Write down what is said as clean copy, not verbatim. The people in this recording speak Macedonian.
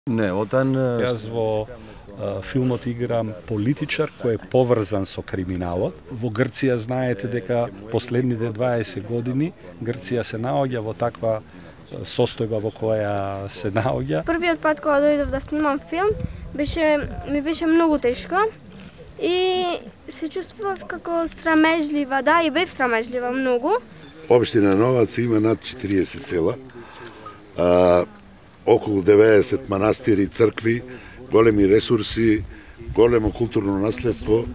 Не, отан Јас во филмот играм политичар кој е поврзан со криминалот. Во Грција знаете дека последните 20 години Грција се наоѓа во таква состојба во која се наоѓа. Првиот пат кога дојдов да снимам филм, ми беше многу тешко и се чувствував како срамежлива, да, и бев срамежлива многу. Општина Новац има над 40 села, околу 90 манастири, цркви, големи ресурси, големо културно наследство.